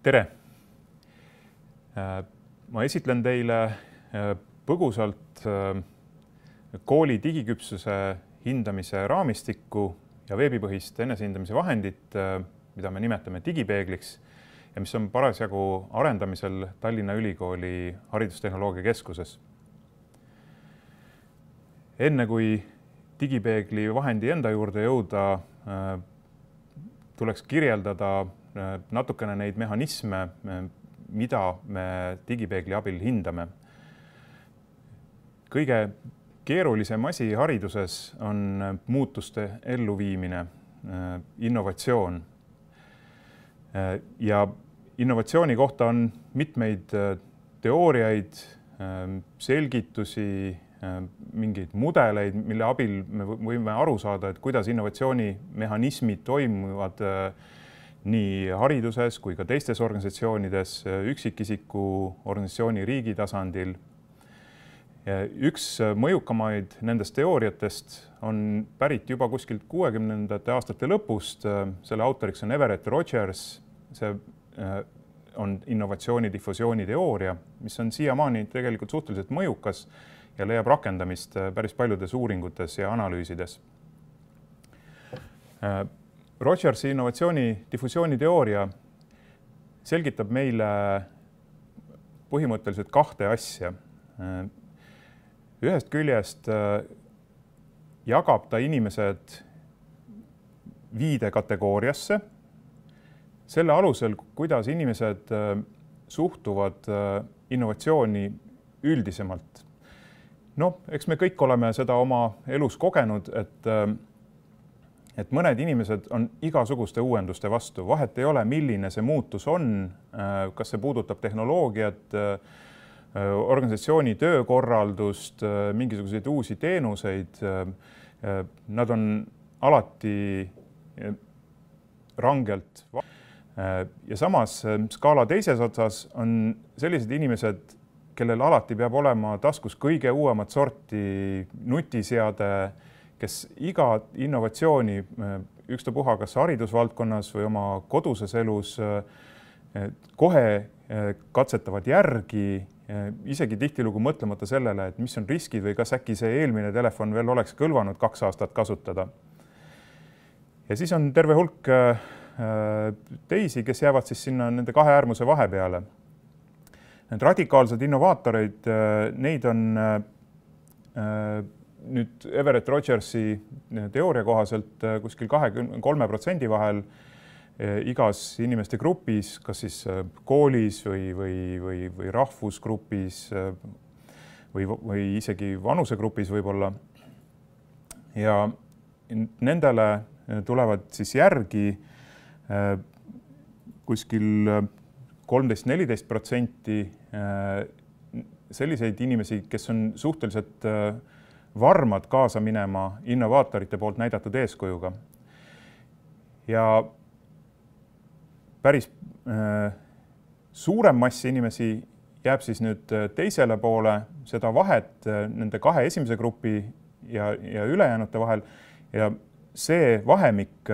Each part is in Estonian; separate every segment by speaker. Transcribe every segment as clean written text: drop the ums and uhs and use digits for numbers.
Speaker 1: Tere! Ma esitlen teile põgusalt kooli digiküpsuse hindamise raamistikku ja veebipõhist enesehindamise vahendit, mida me nimetame digipeegliks ja mis on parasjagu arendamisel Tallinna Ülikooli Haridustehnoloogia Keskuses. Enne kui digipeegli vahendi enda juurde jõuda, tuleks kirjeldada natukene neid mehhanisme, mida me digipeegli abil hindame. Kõige keerulisem asi hariduses on muutuste elluviimine, innovatsioon. Ja innovatsiooni kohta on mitmeid teooriaid, selgitusi, mingeid mudeleid, mille abil me võime aru saada, et kuidas innovatsioonimehhanismid toimuvad nii hariduses kui ka teistes organisatsioonides, üksikisiku organisatsiooni riigi tasandil. Üks mõjukamaid nendest teooriatest on pärit juba kuskilt 60ndate aastate lõpust. Selle autoriks on Everett Rogers. See on innovatsiooni difusiooni teooria, mis on siiamaani tegelikult suhteliselt mõjukas ja leiab rakendamist päris paljudes uuringutes ja analüüsides. Rogersi innovatsiooni difusiooni teooria selgitab meile põhimõtteliselt kahte asja. Ühest küljest jagab ta inimesed 5 kategooriasse, selle alusel, kuidas inimesed suhtuvad innovatsiooni üldisemalt. Eks me kõik oleme seda oma elus kogenud, et mõned inimesed on igasuguste uuenduste vastu. Vahet ei ole, milline see muutus on, kas see puudutab tehnoloogiat, organisatsiooni töökorraldust, mingisuguseid uusi teenuseid. Nad on alati rangelt. Ja samas skaala teises otsas on sellised inimesed, kellel alati peab olema taskus kõige uuemat sorti nutiseade, kes iga innovatsiooni, ükstapuha kas haridusvaldkonnas või oma koduses elus, kohe katsetavad järgi, isegi tihtilugu mõtlemata sellele, et mis on riskid või kas äkki see eelmine telefon veel oleks kõlvanud 2 aastat kasutada. Ja siis on terve hulk teisi, kes jäävad siis sinna nende 2 äärmuse vahepeale. Need radikaalsed innovaatoreid, neid on nüüd Everett Rogersi teooria kohaselt kuskil 23% vahel igas inimeste grupis, kas siis koolis või rahvusgrupis või isegi vanusegrupis võib-olla. Ja nendele tulevad siis järgi kuskil 13–14% selliseid inimesi, kes on suhteliselt varmad kaasa minema innovaatorite poolt näidatud eeskujuga. Ja päris suurem mass inimesi jääb siis nüüd teisele poole, seda vahet nende 2 esimese grupi ja ülejäänute vahel. Ja see vahemik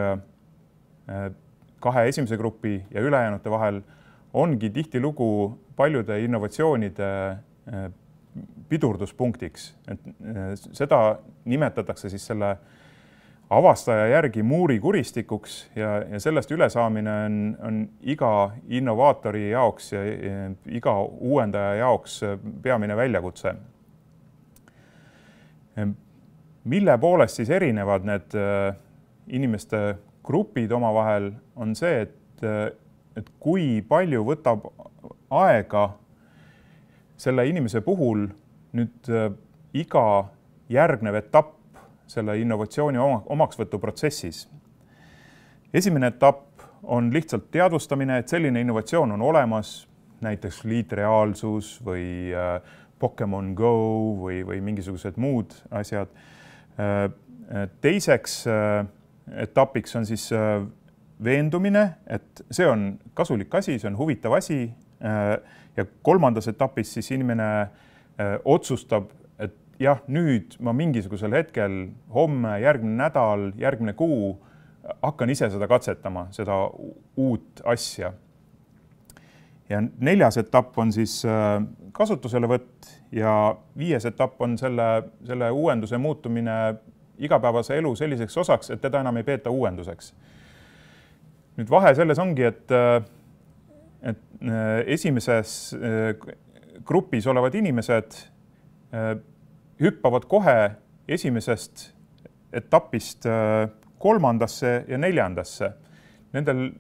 Speaker 1: 2 esimese grupi ja ülejäänute vahel ongi tihtilugu paljude innovatsioonide pidurduspunktiks. Seda nimetatakse siis selle avastaja järgi muurikuristikus ja sellest ülesaamine on iga innovaatori jaoks ja iga uuendaja jaoks peamine väljakutse. Mille poolest siis erinevad need inimeste grupid omavahel on see, et kui palju võtab aega selle inimese puhul nüüd iga järgnev etapp selle innovatsiooni omaksvõtu protsessis. Esimene etapp on lihtsalt teadvustamine, et selline innovatsioon on olemas, näiteks liitreaalsus või Pokemon Go või mingisugused muud asjad. Teiseks etapiks on siis veendumine, et see on kasulik asi, see on huvitav asi. Ja kolmandas etapis siis inimene otsustab, et jah, nüüd ma mingisugusel hetkel, homme, järgmine nädal, järgmine kuu hakkan ise seda katsetama, seda uut asja. Ja 4. etapp on siis kasutuselevõtt ja 5. etapp on selle uuenduse muutumine igapäevase elu selliseks osaks, et teda enam ei peeta uuenduseks. Nüüd vahe selles ongi, et esimeses grupis olevad inimesed hüppavad kohe esimesest etapist 3. ja 4. Nendel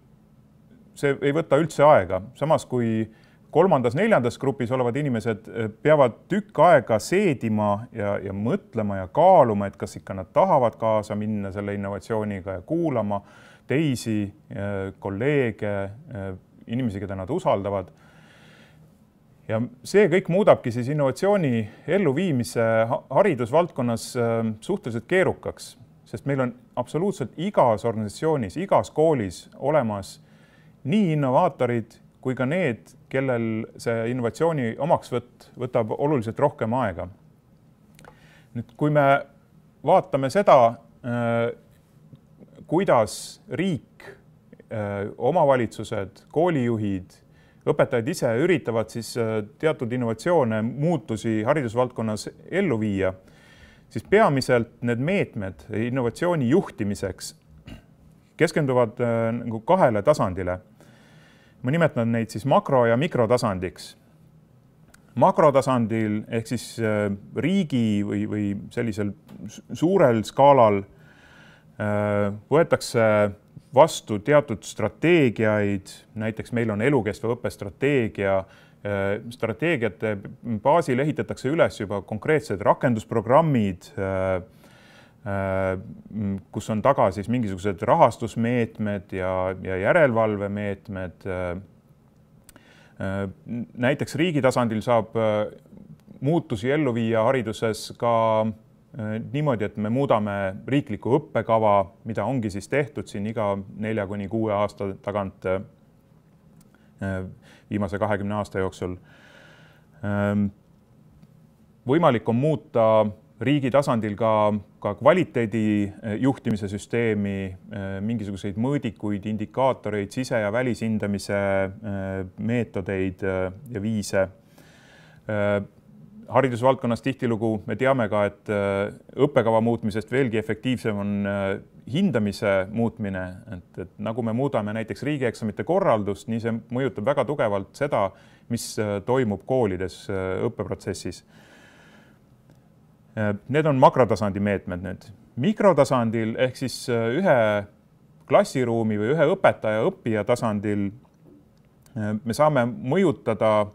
Speaker 1: see ei võta üldse aega, samas kui 3. ja 4. grupis olevad inimesed peavad tükk aega seedima ja mõtlema ja kaaluma, et kas ikka nad tahavad kaasa minna selle innovatsiooniga ja kuulama teisi kolleege, inimesi, keda nad usaldavad. Ja see kõik muudabki siis innovatsiooni elluviimise haridusvaldkonnas suhteliselt keerukaks, sest meil on absoluutselt igas organisatsioonis, igas koolis olemas nii innovaatorid kui ka need, kellel see innovatsiooni omaksvõtt võtab oluliselt rohkem aega. Nüüd, kui me vaatame seda, kuidas riik, omavalitsused, koolijuhid, õpetajad ise üritavad siis teatud innovatsioone, muutusi haridusvaldkonnas ellu viia, siis peamiselt need meetmed innovatsiooni juhtimiseks keskenduvad 2 tasandile. Ma nimetan neid siis makro- ja mikrotasandiks. Makrotasandil ehk siis riigi või sellisel suurel skaalal võetakse vastu teatud strateegiaid, näiteks meil on elukestva õppe strateegia, strateegiate baasil ehitatakse üles juba konkreetsed rakendusprogrammid, kus on taga siis mingisugused rahastusmeetmed ja järelevalvemeetmed. Näiteks riigi tasandil saab muutusi ellu viia hariduses ka niimoodi, et me muudame riikliku õppekava, mida ongi siis tehtud siin iga 4–6 aasta tagant viimase 20 aasta jooksul. Võimalik on muuta riigi tasandil ka kvaliteedi juhtimise süsteemi, mingisuguseid mõõdikuid, indikaatoreid, sise- ja välishindamise meetodeid ja viise. Haridusvaldkonnas tihtilugu me teame ka, et õppekava muutmisest veelgi efektiivsem on hindamise muutmine, et nagu me muudame näiteks riigieksamite korraldust, nii see mõjutab väga tugevalt seda, mis toimub koolides õppeprotsessis. Need on makrotasandi meetmed nüüd. Mikrotasandil ehk siis ühe klassiruumi või ühe õpetaja õppija tasandil me saame mõjutada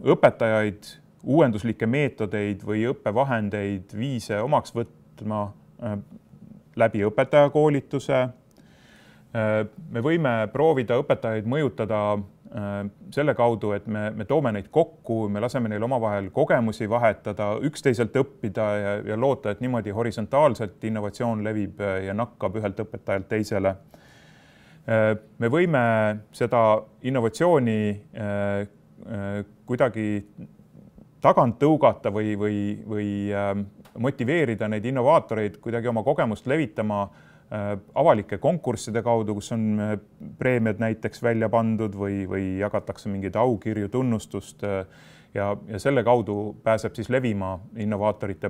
Speaker 1: õpetajaid, uuenduslikke meetodeid või õppevahendeid, viise omaks võtma läbi õpetajakoolituse. Me võime proovida õpetajaid mõjutada selle kaudu, et me toome neid kokku, me laseme neil omavahel kogemusi vahetada, üksteiselt õppida ja loota, et niimoodi horisontaalselt innovatsioon levib ja nakkab ühelt õpetajalt teisele. Me võime seda innovatsiooni kuidagi tagant tõugata või motiveerida neid innovaatoreid kuidagi oma kogemust levitama avalike konkursside kaudu, kus on preemiad näiteks välja pandud või jagatakse mingeid aukirju, tunnustust ja selle kaudu pääseb siis levima innovaatorite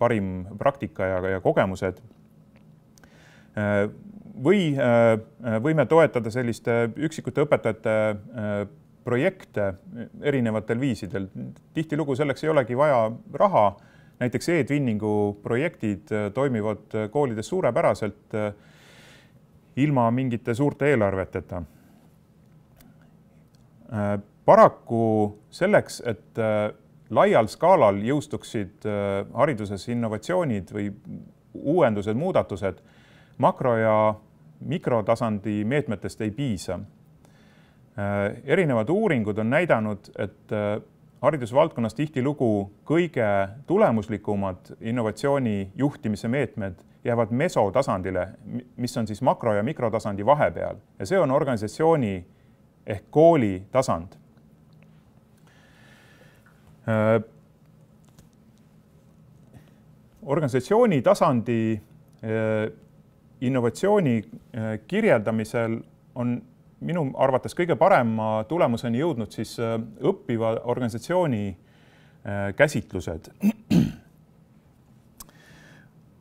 Speaker 1: parim praktika ja kogemused. Või võime toetada selliste üksikute õpetajate projekte erinevatel viisidel. Tihtilugu selleks ei olegi vaja raha. Näiteks e-twinningu projektid toimivad koolides suurepäraselt ilma mingite suurte eelarveteta. Paraku selleks, et laial skaalal jõustuksid hariduses innovatsioonid või uuendused, muudatused, makro- ja mikrotasandi meetmetest ei piisa. Erinevad uuringud on näidanud, et haridusvaldkonnas tihtilugu kõige tulemuslikumad innovatsiooni juhtimise meetmed jäävad mesotasandile, mis on siis makro- ja mikrotasandi vahepeal. Ja see on organisatsiooni ehk kooli tasand. Organisatsiooni tasandi innovatsiooni kirjeldamisel on minu arvates kõige parema tulemuseni jõudnud siis õppiva organisatsiooni käsitlused.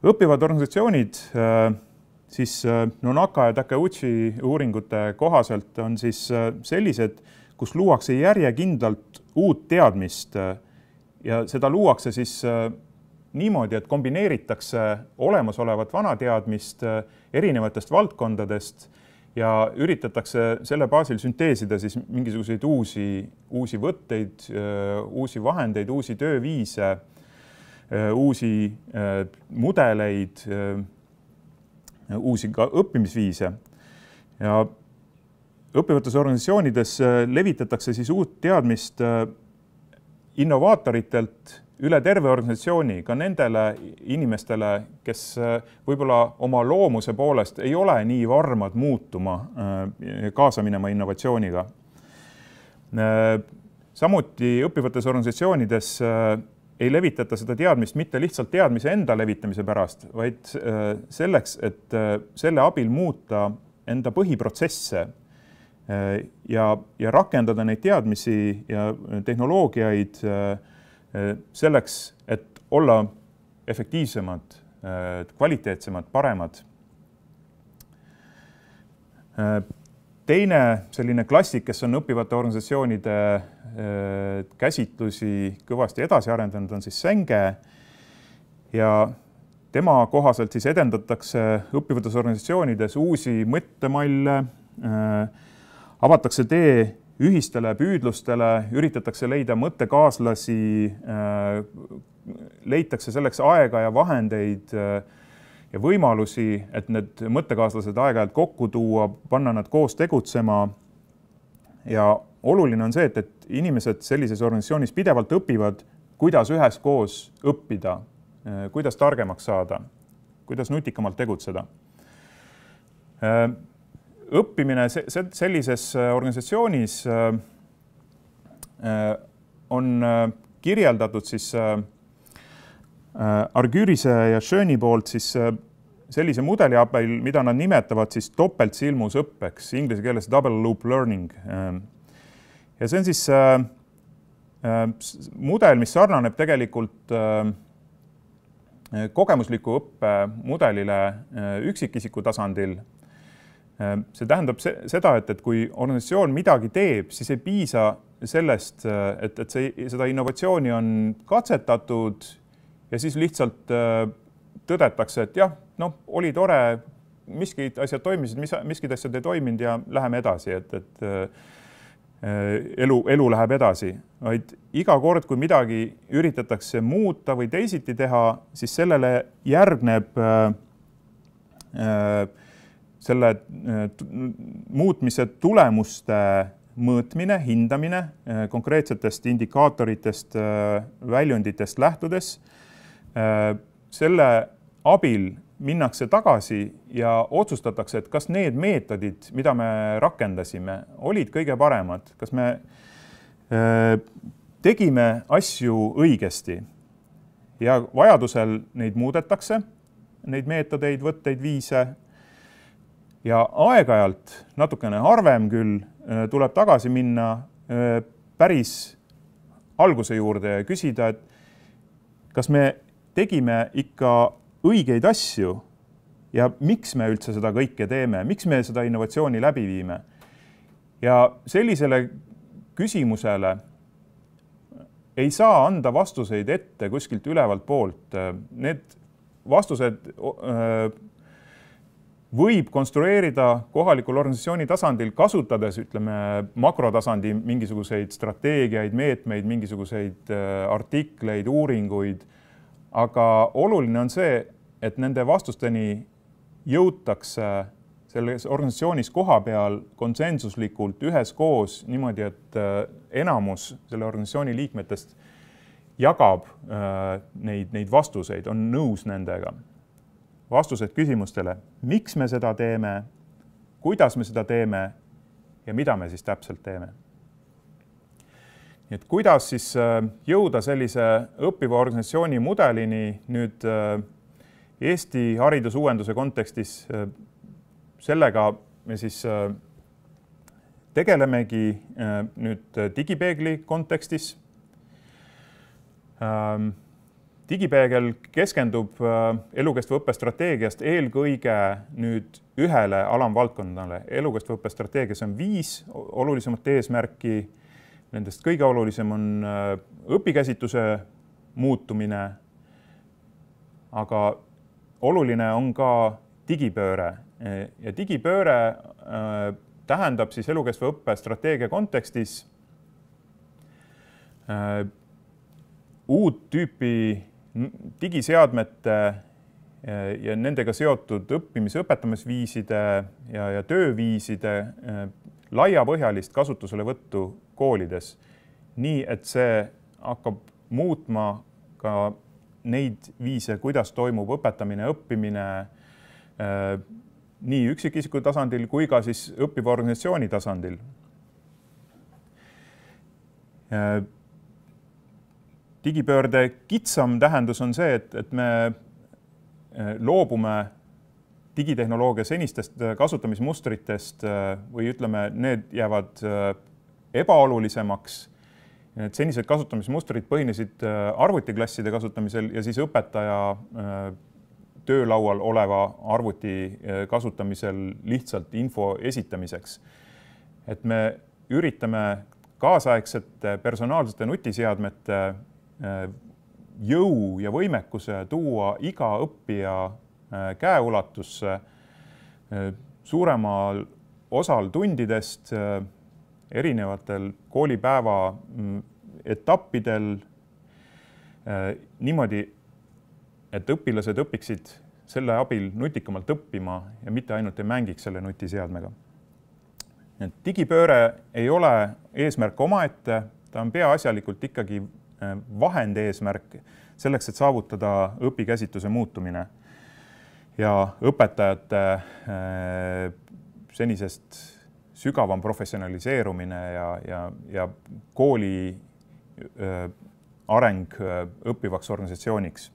Speaker 1: Õppivad organisatsioonid siis Nonaka ja Takeuchi uuringute kohaselt on siis sellised, kus luuakse järjekindlalt uut teadmist ja seda luuakse siis niimoodi, et kombineeritakse olemasolevat vana teadmist erinevatest valdkondadest ja üritatakse selle baasil sünteesida siis mingisuguseid uusi võtteid, uusi vahendeid, uusi tööviise, uusi mudeleid, uusi ka õppimisviise. Ja õppivates organisatsioonides levitatakse siis uut teadmist innovaatoritelt üle terve organisatsiooni, ka nendele inimestele, kes võib-olla oma loomuse poolest ei ole nii varmad muutuma, kaasa minema innovatsiooniga. Samuti õppivates organisatsioonides ei levitata seda teadmist mitte lihtsalt teadmise enda levitamise pärast, vaid selleks, et selle abil muuta enda põhiprotsesse ja rakendada neid teadmisi ja tehnoloogiaid selleks, et olla efektiivsemad, kvaliteetsemad, paremad. Teine selline klassik, kes on õppivate organisatsioonide käsitlusi kõvasti edasi arendanud, on siis Senge ja tema kohaselt siis edendatakse õppivates organisatsioonides uusi mõttemalle, avatakse tee ühistele püüdlustele, üritatakse leida mõttekaaslasi, leitakse selleks aega ja vahendeid ja võimalusi, et need mõttekaaslased aeg-ajalt kokku tuua, panna nad koos tegutsema. Ja oluline on see, et inimesed sellises organisatsioonis pidevalt õpivad, kuidas üheskoos õppida, kuidas targemaks saada, kuidas nutikamalt tegutseda. Õppimine sellises organisatsioonis on kirjeldatud siis Argyrise ja Schöni poolt siis sellise mudeli abil, mida nad nimetavad siis topeltsilmusõppeks, inglise keeles double loop learning. Ja see on siis mudel, mis sarnaneb tegelikult kogemusliku õppe mudelile üksikisiku tasandil. See tähendab seda, et kui organisatsioon midagi teeb, siis ei piisa sellest, et seda innovatsiooni on katsetatud ja siis lihtsalt tõdetakse, et jah, oli tore, miskid asjad toimisid, miskid asjad ei toiminud ja läheme edasi, et elu läheb edasi. Vaid iga kord, kui midagi üritatakse muuta või teisiti teha, siis sellele järgneb selle muutmise tulemuste mõõtmine, hindamine konkreetsetest indikaatoritest, väljunditest lähtudes. Selle abil minnakse tagasi ja otsustatakse, et kas need meetodid, mida me rakendasime, olid kõige paremad, kas me tegime asju õigesti ja vajadusel neid muudetakse, neid meetodeid, võtteid, viise. Ja aeg-ajalt, natukene harvem küll, tuleb tagasi minna päris alguse juurde ja küsida, et kas me tegime ikka õigeid asju ja miks me üldse seda kõike teeme, miks me seda innovatsiooni läbi viime. Ja sellisele küsimusele ei saa anda vastuseid ette kuskilt ülevalt poolt. Need vastused võib konstrueerida kohalikul organisatsiooni tasandil, kasutades, makrotasandi mingisuguseid strateegiaid, meetmeid, mingisuguseid artikleid, uuringuid. Aga oluline on see, et nende vastusteni jõutakse selles organisatsioonis koha peal konsensuslikult üheskoos niimoodi, et enamus selle organisatsiooni liikmetest jagab neid vastuseid, on nõus nendega. Vastused küsimustele, miks me seda teeme, kuidas me seda teeme ja mida me siis täpselt teeme. Et kuidas siis jõuda sellise õppiva organisatsiooni mudelini nüüd Eesti haridusuuenduse kontekstis, sellega me siis tegelemegi nüüd digipeegli kontekstis. Digipeegel keskendub elukestva õppe strateegiast eelkõige nüüd ühele alamvaldkonnale. Elukestva õppe strateegias on 5 olulisemat eesmärki. Nendest kõige olulisem on õpikäsitluse muutumine, aga oluline on ka digipööre. Ja digipööre tähendab siis elukestva õppe strateegia kontekstis uut tüüpi digiseadmete ja nendega seotud õppimis-õpetamisviiside ja tööviiside laiapõhjalist kasutuselevõttu koolides, nii et see hakkab muutma ka neid viise, kuidas toimub õpetamine, õppimine nii üksikisiku tasandil kui ka siis õppiva organisatsiooni tasandil. Digipöörde kitsam tähendus on see, et me loobume digitehnoloogia senistest kasutamismustritest või ütleme, need jäävad ebaolulisemaks. Need senised kasutamismustrid põhinesid arvutiklasside kasutamisel ja siis õpetaja töölaual oleva arvuti kasutamisel lihtsalt info esitamiseks. Et me üritame kaasaegsete personaalsete nutiseadmete jõu ja võimekuse tuua iga õppija käeulatusse suuremal osal tundidest erinevatel koolipäeva etappidel niimoodi, et õpilased õpiksid selle abil nutikamalt õppima ja mitte ainult ei mängiks selle nutiseadmega. Digipööre ei ole eesmärk omaette, ta on peaasjalikult ikkagi vahend eesmärk selleks, et saavutada õpikäsitluse muutumine ja õpetajate senisest sügavam professionaliseerumine ja kooli areng õppivaks organisatsiooniks.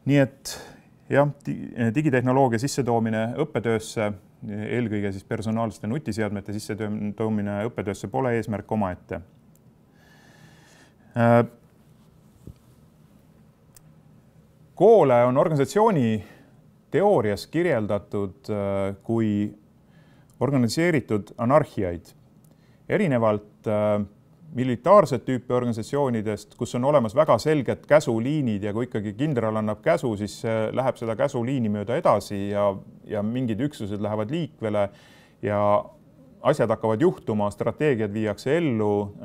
Speaker 1: Nii et jah, digitehnoloogia sissetoomine õppetöösse, eelkõige siis personaalsete nutiseadmete sissetoomine õppetöösse pole eesmärk omaette. Koole on organisatsiooni teoorias kirjeldatud kui organiseeritud anarhiaid. Erinevalt militaarset tüüpi organisatsioonidest, kus on olemas väga selged käsuliinid ja kui ikkagi kindral annab käsu, siis läheb seda käsuliini mööda edasi ja mingid üksused lähevad liikvele ja asjad hakkavad juhtuma, strateegiad viiakse ellu,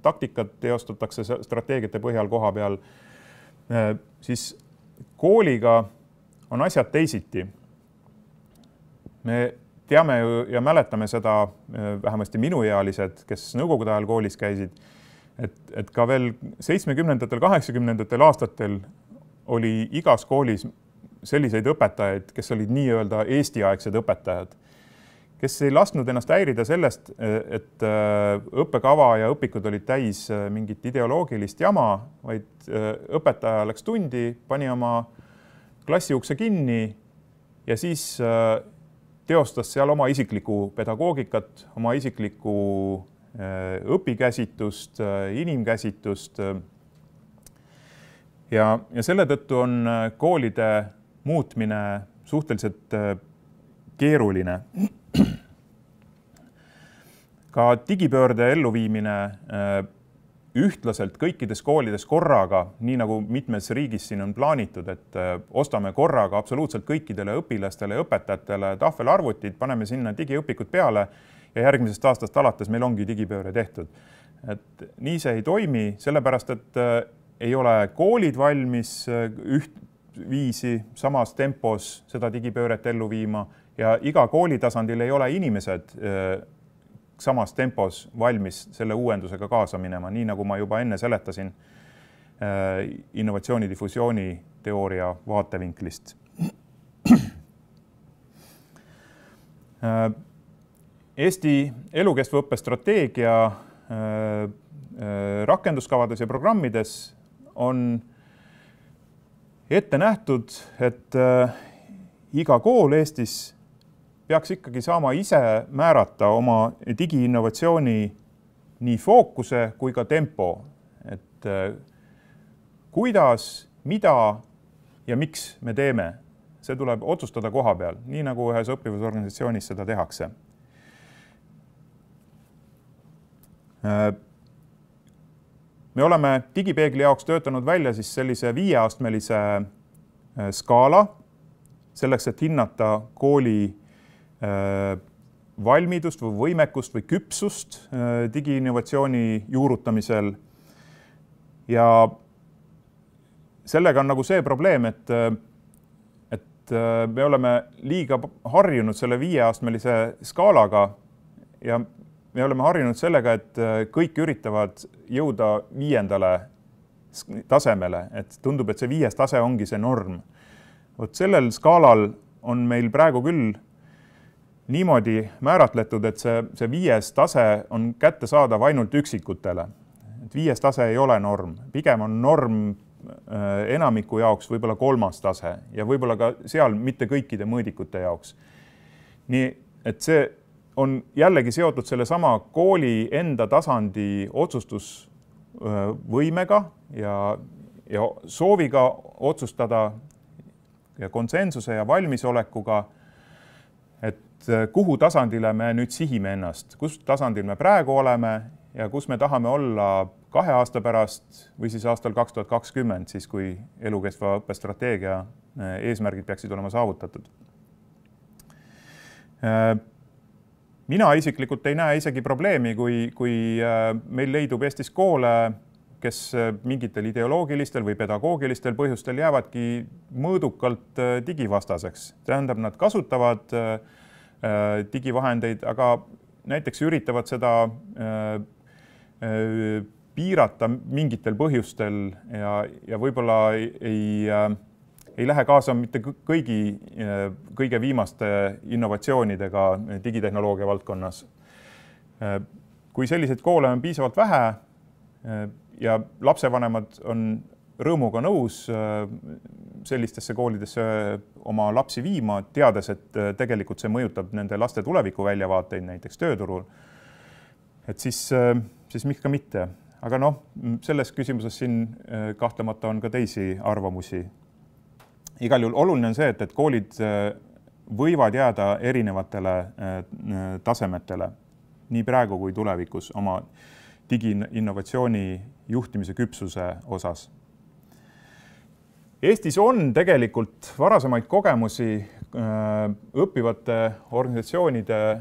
Speaker 1: taktikat teostatakse strateegiate põhjal koha peal, siis kooliga on asjad teisiti. Me teame ja mäletame seda, vähemasti minuealised, kes nõukogude ajal koolis käisid, et ka veel 70-ndatel, 80-ndatel aastatel oli igas koolis selliseid õpetajaid, kes olid nii-öelda Eesti-aegsed õpetajad, kes ei lasknud ennast häirida sellest, et õppekava ja õpikud olid täis mingit ideoloogilist jama, vaid õpetaja läks tundi, pani oma klassiukse kinni ja siis teostas seal oma isiklikku pedagoogikat, oma isiklikku õpikäsitlust, inimkäsitlust. Ja selle tõttu on koolide muutmine suhteliselt keeruline. Ka digipöörde elluviimine ühtlaselt kõikides koolides korraga, nii nagu mitmes riigis siin on plaanitud, et ostame korraga absoluutselt kõikidele õpilastele ja õpetajatele tahvelarvutid, paneme sinna digiõpikud peale ja järgmisest aastast alates meil ongi digipööre tehtud. Et nii see ei toimi, sellepärast et ei ole koolid valmis ühtviisi samas tempos seda digipööret ellu viima ja iga kooli tasandil ei ole inimesed samas tempos valmis selle uuendusega kaasa minema, nii nagu ma juba enne seletasin innovatsiooni difusiooni teooria vaatevinklist. Eesti elukestva õppe strateegia rakenduskavades ja programmides on ette nähtud, et iga kool Eestis peaks ikkagi saama ise määrata oma digiinnovatsiooni nii fookuse kui ka tempo, et kuidas, mida ja miks me teeme. See tuleb otsustada koha peal, nii nagu ühes õppivusorganisatsioonis seda tehakse. Me oleme digipeegli jaoks töötanud välja siis sellise 5-astmelise skaala, selleks, et hinnata kooli valmidust või võimekust või küpsust digiinnovatsiooni juurutamisel. Ja sellega on nagu see probleem, et me oleme liiga harjunud selle 5-astmelise skaalaga ja me oleme harjunud sellega, et kõik üritavad jõuda 5. tasemele, et tundub, et see 5. tase ongi see norm. Vot sellel skaalal on meil praegu küll niimoodi määratletud, et see 5. tase on kättesaadav ainult üksikutele. Et 5. tase ei ole norm, pigem on norm enamiku jaoks võib-olla 3. tase ja võib-olla ka seal mitte kõikide mõõdikute jaoks. Nii, et see on jällegi seotud selle sama kooli enda tasandi otsustusvõimega ja sooviga otsustada ja konsensuse ja valmisolekuga, et kuhu tasandile me nüüd sihime ennast, kus tasandil me praegu oleme ja kus me tahame olla 2 aasta pärast või siis aastal 2020, siis kui elukestva õppestrateegia eesmärgid peaksid olema saavutatud. Mina isiklikult ei näe isegi probleemi, kui meil leidub Eestis koole, kes mingitel ideoloogilistel või pedagoogilistel põhjustel jäävadki mõõdukalt digivastaseks. Tähendab, nad kasutavad digivahendeid, aga näiteks üritavad seda piirata mingitel põhjustel ja võib-olla ei lähe kaasa mitte kõige viimaste innovatsioonidega digitehnoloogia valdkonnas. Kui selliseid koole on piisavalt vähe ja lapsevanemad on rõõmuga nõus sellistesse koolidesse oma lapsi viima, teades, et tegelikult see mõjutab nende laste tuleviku väljavaateid näiteks tööturul, et siis miks ka mitte. Aga selles küsimuses siin kahtlemata on ka teisi arvamusi. Igal juhul oluline on see, et koolid võivad jääda erinevatele tasemetele nii praegu kui tulevikus oma digiinnovatsiooni juhtimise küpsuse osas. Eestis on tegelikult varasemaid kogemusi õppivate organisatsioonide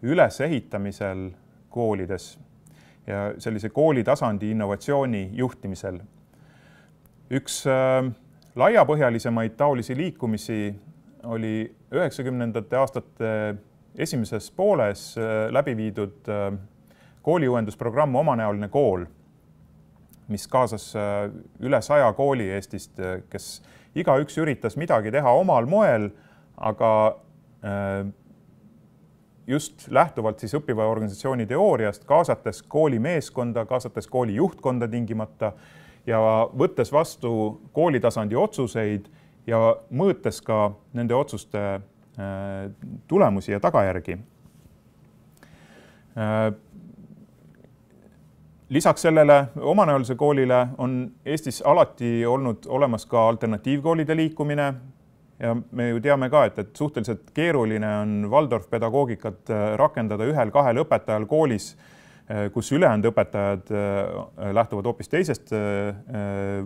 Speaker 1: ülesehitamisel koolides ja sellise koolitasandi innovatsiooni juhtimisel. Üks laiapõhjalisemaid taolisi liikumisi oli 90. aastate esimeses pooles läbi viidud kooliuuendusprogramm Omanäoline kool, mis kaasas üle 100 kooli Eestist, kes igaüks üritas midagi teha omal moel, aga just lähtuvalt siis õppiva organisatsiooni teooriast, kaasates kooli meeskonda, kaasates kooli juhtkonda tingimata ja võttes vastu koolitasandi otsuseid ja mõõtes ka nende otsuste tulemusi ja tagajärgi. Lisaks sellele omanäolise koolile on Eestis alati olnud olemas ka alternatiivkoolide liikumine ja me ju teame ka, et suhteliselt keeruline on Waldorf-pedagoogikat rakendada 1-2 õpetajal koolis, kus ülejäänud õpetajad lähtuvad hoopis teisest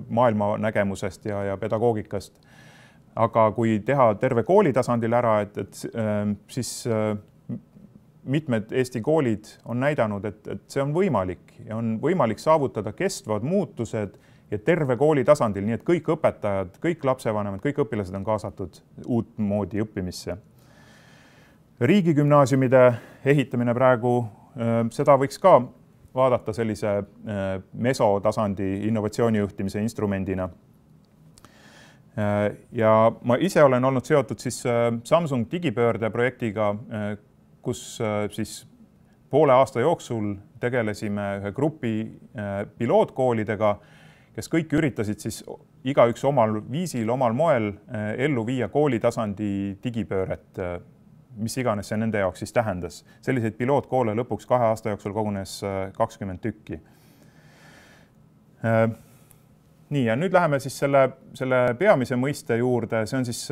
Speaker 1: maailma nägemusest ja pedagoogikast. Aga kui teha terve kooli tasandil ära, siis mitmed Eesti koolid on näidanud, et see on võimalik ja on võimalik saavutada kestvad muutused ja terve kooli tasandil, nii et kõik õpetajad, kõik lapsevanemad, kõik õpilased on kaasatud uut moodi õppimisse. Riigigümnaasiumide ehitamine praegu, seda võiks ka vaadata sellise mesotasandi innovatsioonijuhtimise instrumendina. Ja ma ise olen olnud seotud siis Samsung digipöörde projektiga, kus siis poole aasta jooksul tegelesime ühe grupi pilootkoolidega, kes kõik üritasid siis igaüks omal viisil, omal moel ellu viia koolitasandi digipööret, mis iganes see nende jaoks siis tähendas. Selliseid pilootkoole lõpuks 2 aasta jooksul kogunes 20 tükki. Nii, ja nüüd läheme siis selle peamise mõiste juurde, see on siis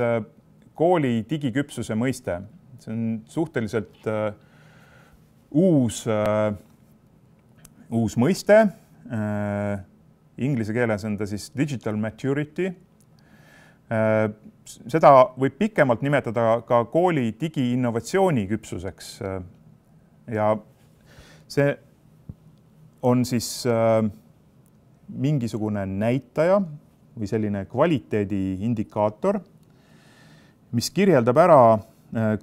Speaker 1: kooli digiküpsuse mõiste. See on suhteliselt uus mõiste. Inglise keeles on ta siis digital maturity. Seda võib pikemalt nimetada ka kooli digiinnovatsiooni küpsuseks. Ja see on siis mingisugune näitaja või selline kvaliteedi indikaator, mis kirjeldab ära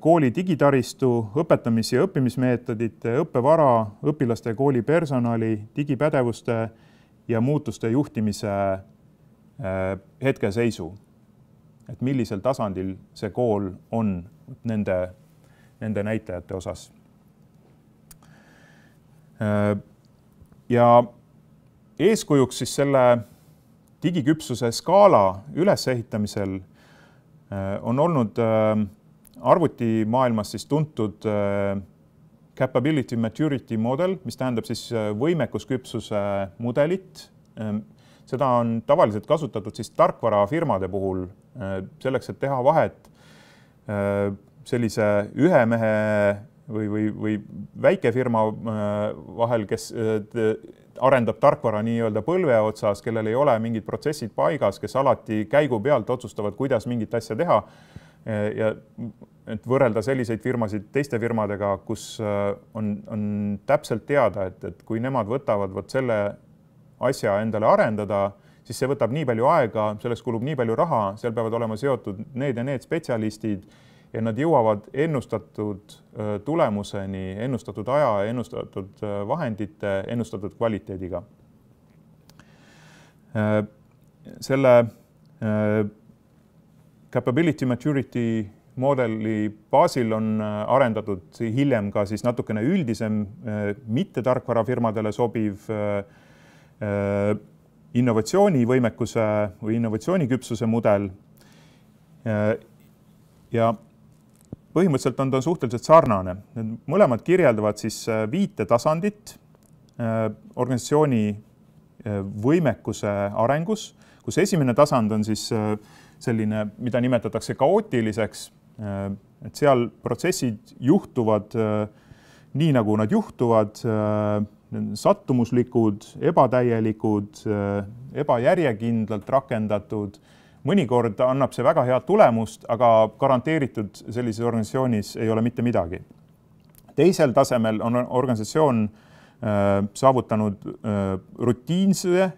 Speaker 1: kooli digitaristu, õpetamis- ja õppimismeetodite, õppevara, õpilaste ja kooli personali, digipädevuste ja muutuste juhtimise hetkeseisu. Et millisel tasandil see kool on nende näitajate osas. Ja eeskujuks siis selle digiküpsuse skaala ülesehitamisel on olnud arvutimaailmas siis tuntud capability maturity model, mis tähendab siis võimekusküpsuse mudelit. Seda on tavaliselt kasutatud siis tarkvarafirmade puhul selleks, et teha vahet sellise ühe mehe või väikefirma vahel, kes arendab tarkvara nii-öelda põlve otsas, kellel ei ole mingid protsessid paigas, kes alati käigu pealt otsustavad, kuidas mingit asja teha. Ja et võrrelda selliseid firmasid teiste firmadega, kus on täpselt teada, et kui nemad võtavad selle asja endale arendada, siis see võtab nii palju aega, selleks kulub nii palju raha, seal peavad olema seotud need ja need spetsialistid ja nad jõuavad ennustatud tulemuseni, ennustatud aja, ennustatud vahendite, ennustatud kvaliteediga. Selle capability maturity modeli baasil on arendatud hiljem ka siis natukene üldisem, mitte tarkvarafirmadele sobiv innovatsioonivõimekuse või innovatsiooniküpsuse mudel. Ja põhimõtteliselt on ta suhteliselt sarnane. Mõlemad kirjeldavad siis 5 tasandit organisatsiooni võimekuse arengus, kus esimene tasand on siis selline, mida nimetatakse kaootiliseks, et seal protsessid juhtuvad nii, nagu nad juhtuvad, sattumuslikud, ebatäielikud, ebajärjekindlalt rakendatud. Mõnikord annab see väga head tulemust, aga garanteeritud sellises organisatsioonis ei ole mitte midagi. Teisel tasemel on organisatsioon saavutanud rutiinse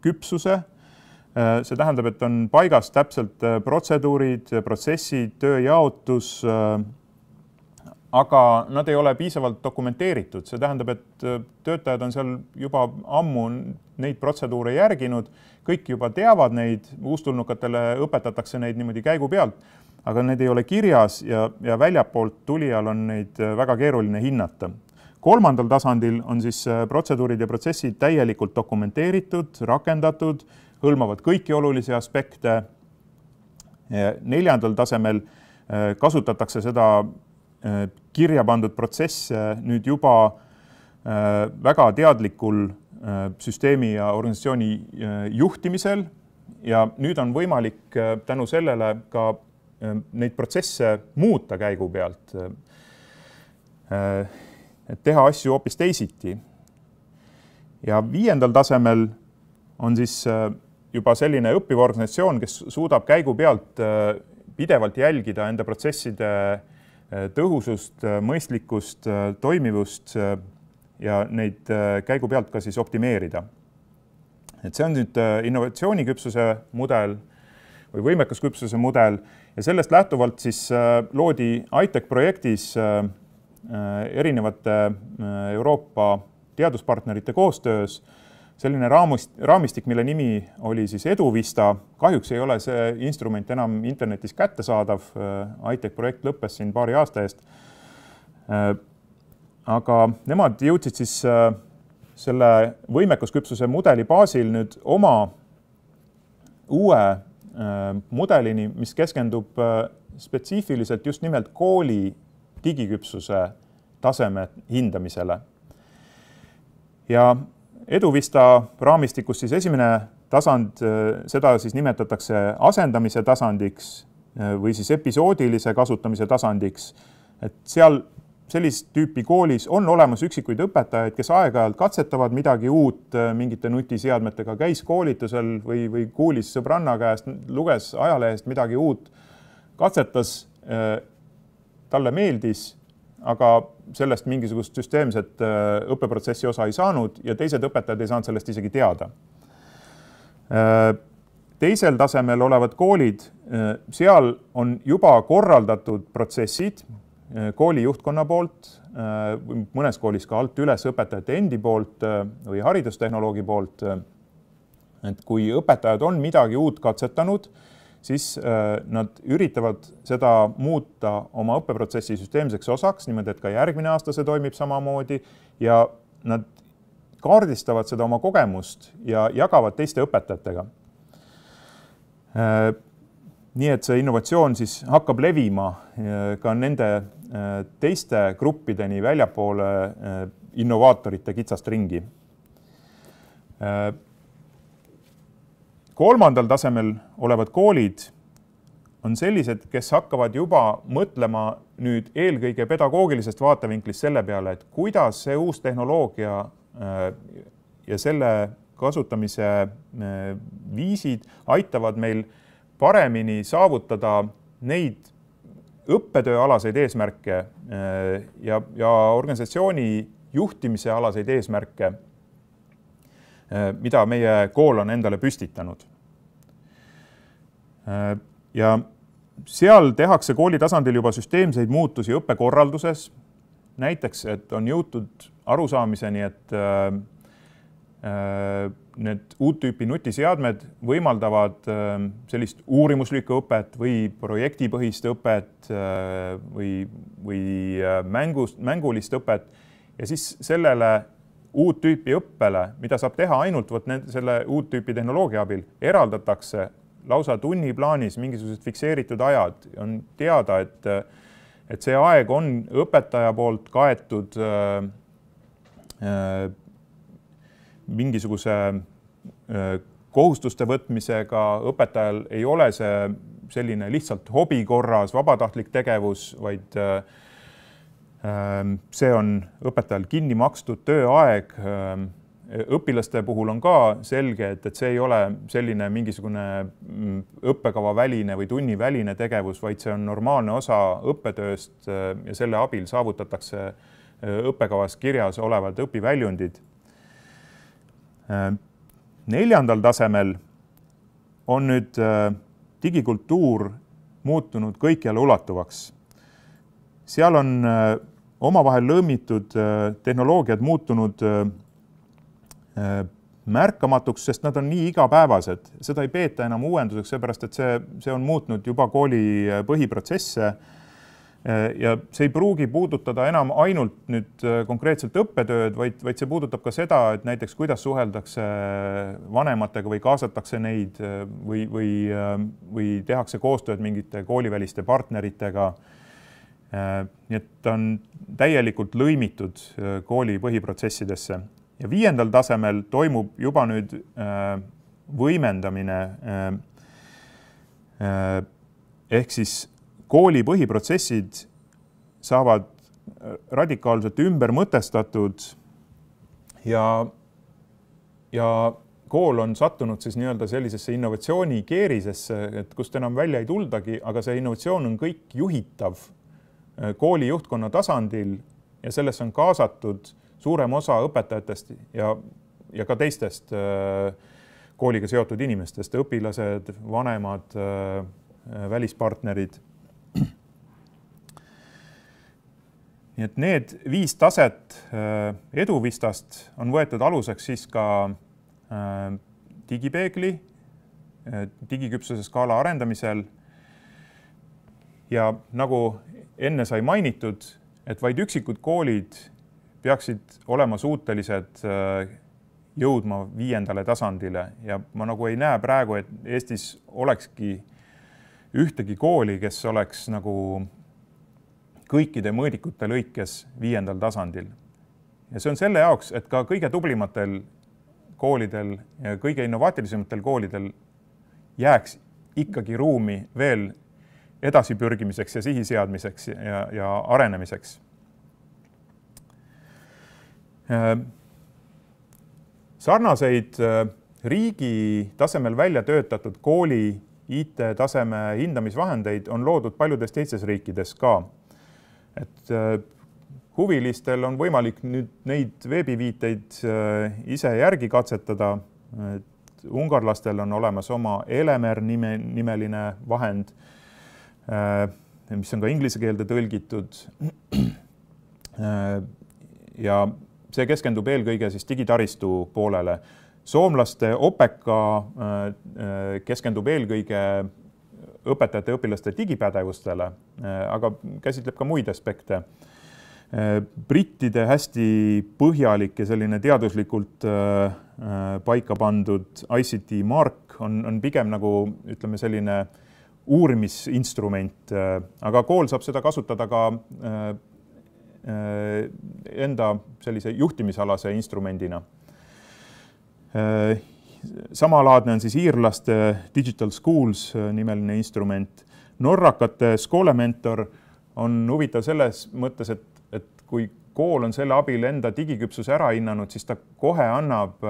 Speaker 1: küpsuse. See tähendab, et on paigas täpselt protseduurid, protsessid, tööjaotus, aga nad ei ole piisavalt dokumenteeritud. See tähendab, et töötajad on seal juba ammu neid protseduure järginud, kõik juba teavad neid, uustulnukatele õpetatakse neid niimoodi käigu pealt, aga need ei ole kirjas ja väljapoolt tulijal on neid väga keeruline hinnata. Kolmandal tasandil on siis protseduurid ja protsessid täielikult dokumenteeritud, rakendatud, hõlmavad kõiki olulisi aspekte. Neljandal tasemel kasutatakse seda kirja pandud protsesse nüüd juba väga teadlikul süsteemi ja organisatsiooni juhtimisel ja nüüd on võimalik tänu sellele ka neid protsesse muuta käigu pealt, et teha asju hoopis teisiti. Ja 5. tasemel on siis juba selline õppiv organisatsioon, kes suudab käigu pealt pidevalt jälgida enda protsesside tõhusust, mõistlikkust, toimivust ja neid käigu pealt ka siis optimeerida. Et see on nüüd innovatsiooniküpsuse mudel või võimekusküpsuse mudel ja sellest lähtuvalt siis loodi ITEC projektis erinevate Euroopa teaduspartnerite koostöös selline raamistik, mille nimi oli siis EduVista. Kahjuks ei ole see instrument enam internetis kättesaadav. ITEC projekt lõppes siin paari aasta eest. Aga nemad jõudsid siis selle võimekusküpsuse mudeli baasil nüüd oma uue mudelini, mis keskendub spetsiifiliselt just nimelt kooli digiküpsuse taseme hindamisele. Ja Eduvista raamistikus siis esimene tasand, seda siis nimetatakse asendamise tasandiks või siis episoodilise kasutamise tasandiks. Et seal sellist tüüpi koolis on olemas üksikuid õpetajaid, kes aeg-ajalt katsetavad midagi uut mingite nutiseadmetega, käis koolitusel või kuulis sõbranna käest, luges ajalehest midagi uut, katsetas, talle meeldis, aga sellest mingisugust süsteemset õppeprotsessi osa ei saanud ja teised õpetajad ei saanud sellest isegi teada. Teisel tasemel olevad koolid, seal on juba korraldatud protsessid kooli juhtkonna poolt, mõnes koolis ka alt üles õpetajate endi poolt või haridustehnoloogi poolt. Et kui õpetajad on midagi uut katsetanud, siis nad üritavad seda muuta oma õppeprotsessi süsteemseks osaks, niimoodi, et ka järgmine aasta see toimib samamoodi ja nad kaardistavad seda oma kogemust ja jagavad teiste õpetajatega. Nii et see innovatsioon siis hakkab levima ka nende teiste gruppideni väljapoole innovaatorite kitsast ringi. Kolmandal tasemel olevad koolid on sellised, kes hakkavad juba mõtlema nüüd eelkõige pedagoogilisest vaatevinklist selle peale, et kuidas see uus tehnoloogia ja selle kasutamise viisid aitavad meil paremini saavutada neid õppetööalaseid eesmärke ja organisatsiooni juhtimise alaseid eesmärke, mida meie kool on endale püstitanud. Ja seal tehakse kooli tasandil juba süsteemseid muutusi õppekorralduses. Näiteks, et on jõutud arusaamiseni, et need uut tüüpi nutiseadmed võimaldavad sellist uurimuslikku õpet või projektipõhist õpet või mängulist õpet ja siis sellele uut tüüpi õppele, mida saab teha ainult selle uut tüüpi tehnoloogia abil, eraldatakse lausa tunniplaanis mingisugused fikseeritud ajad. On teada, et see aeg on õpetaja poolt kaetud mingisuguse kohustuste võtmisega, õpetajal ei ole see selline lihtsalt hobi korras vabatahtlik tegevus, vaid see on õpetajal kinni makstud tööaeg. Õpilaste puhul on ka selge, et see ei ole selline mingisugune õppekava väline või tunni väline tegevus, vaid see on normaalne osa õppetööst ja selle abil saavutatakse õppekavas kirjas olevad õpiväljundid. Neljandal tasemel on nüüd digikultuur muutunud kõikjale ulatuvaks. Seal on omavahel lõimitud tehnoloogiad muutunud märkamatuks, sest nad on nii igapäevased. Seda ei peeta enam uuenduseks, seepärast, et see on muutnud juba kooli põhiprotsesse ja see ei pruugi puudutada enam ainult nüüd konkreetselt õppetööd, vaid see puudutab ka seda, et näiteks kuidas suheldakse vanematega või kaasatakse neid või tehakse koostööd mingite kooliväliste partneritega. Nii et on täielikult lõimitud kooli põhiprotsessidesse. Ja 5. tasemel toimub juba nüüd võimendamine ehk siis kooli põhiprotsessid saavad radikaalselt ümber mõtestatud ja kool on sattunud siis nii-öelda sellisesse innovatsiooni keerisesse, et kust enam välja ei tuldagi, aga see innovatsioon on kõik juhitav kooli juhtkonna tasandil ja selles on kaasatud suurem osa õpetajatest ja ka teistest kooliga seotud inimestest, õpilased, vanemad, välispartnerid. Nii et need 5 taset Eduvistast on võetud aluseks siis ka digipeegli, digiküpsuse skaala arendamisel ja nagu enne sai mainitud, et vaid üksikud koolid peaksid olema suutelised jõudma 5. tasandile ja ma nagu ei näe praegu, et Eestis olekski ühtegi kooli, kes oleks nagu kõikide mõõdikute lõikes 5. tasandil. Ja see on selle jaoks, et ka kõige tublimatel koolidel ja kõige innovaatilisematel koolidel jääks ikkagi ruumi veel edasipürgimiseks ja sihiseadmiseks ja arenemiseks. Sarnaseid riigi tasemel välja töötatud kooli IT-taseme hindamisvahendeid on loodud paljudes teistes riikides ka. Et huvilistel on võimalik nüüd neid veebiviiteid ise järgi katsetada. Ungarlastel on olemas oma Elemer nimeline vahend, mis on ka inglise keelde tõlgitud. Ja see keskendub eelkõige siis digitaristu poolele. Soomlaste Opeka keskendub eelkõige õpetajate ja õpilaste digipädevustele, aga käsitleb ka muid aspekte. Brittide hästi põhjalik ja selline teaduslikult paika pandud ICT Mark on pigem nagu, ütleme, selline uurimisinstrument, aga kool saab seda kasutada ka enda sellise juhtimisalase instrumendina. Samalaadne on siis iirlaste Digital Schools nimeline instrument. Norrakate Skolementor on huvitav selles mõttes, et kui kool on selle abil enda digiküpsuse ära hinnanud, siis ta kohe annab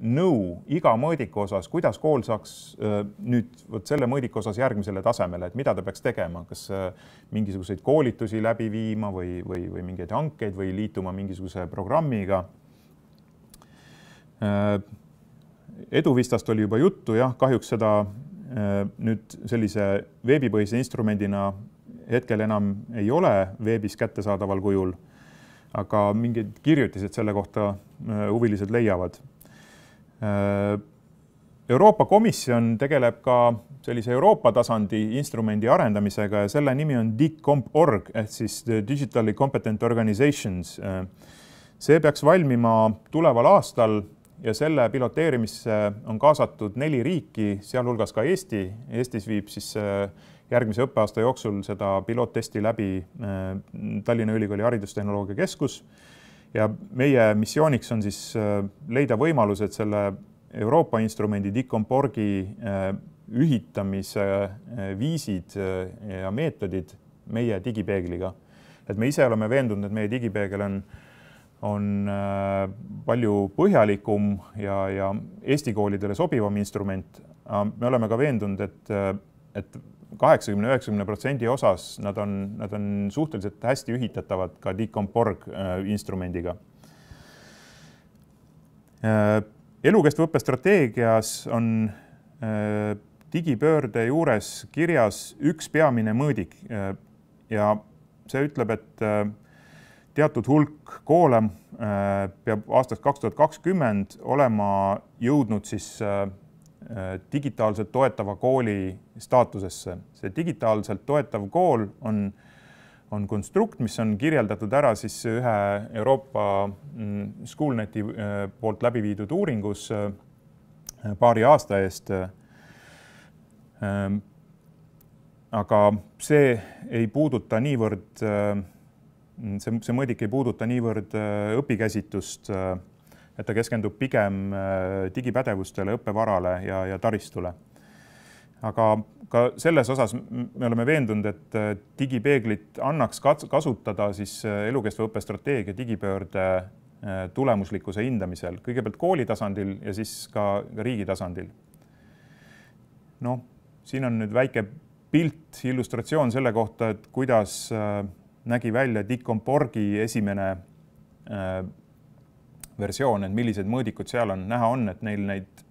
Speaker 1: nõu iga mõõdiku osas, kuidas kool saaks nüüd selle mõõdiku osas järgmisele tasemele, et mida ta peaks tegema, kas mingisuguseid koolitusi läbi viima või mingeid hankeid või liituma mingisuguse programmiga. Eduvistast oli juba juttu, jah, kahjuks seda nüüd sellise veebipõhise instrumendina hetkel enam ei ole veebis kättesaadaval kujul, aga mingid kirjutised selle kohta huvilised leiavad. Euroopa Komisjon tegeleb ka sellise Euroopa tasandi instrumendi arendamisega ja selle nimi on DICCOMP.org ehk siis Digitally Competent Organizations. See peaks valmima tuleval aastal ja selle piloteerimisse on kaasatud 4 riiki, sealhulgas ka Eesti. Eestis viib siis järgmise õppeaasta jooksul seda piloottesti läbi Tallinna Ülikooli Haridustehnoloogia Keskus. Ja meie missiooniks on siis leida võimalus, et selle Euroopa instrumendi DICCOMP.orgi ühitamise viisid ja meetodid meie digipeegliga. Et me ise oleme veendunud, et meie digipeegel on palju põhjalikum ja Eesti koolidele sobivam instrument. Me oleme ka veendunud, et 80–90% osas nad on suhteliselt hästi ühitatavad ka DICCOMP.org instrumendiga. Elukestva õppe strateegias on digipöörde juures kirjas üks peamine mõõdik ja see ütleb, et teatud hulk koole peab aastast 2020 olema jõudnud siis digitaalselt toetava kooli staatusesse. See digitaalselt toetav kool on konstrukt, mis on kirjeldatud ära siis ühe Euroopa Schoolneti poolt läbi viidud uuringus paari aasta eest. Aga see ei puuduta niivõrd see mõõdik ei puuduta niivõrd õpikäsitust, et ta keskendub pigem digipädevustele, õppevarale ja taristule. Aga ka selles osas me oleme veendunud, et digipeeglit annaks kasutada siis elukestva õppe strateegia digipöörde tulemuslikkuse hindamisel, kõigepealt kooli tasandil ja siis ka riigi tasandil. No, siin on nüüd väike pilt, illustratsioon selle kohta, et kuidas nägi välja DICCOMP.orgi esimene versioon, et millised mõõdikud seal on. Näha on, et neil neid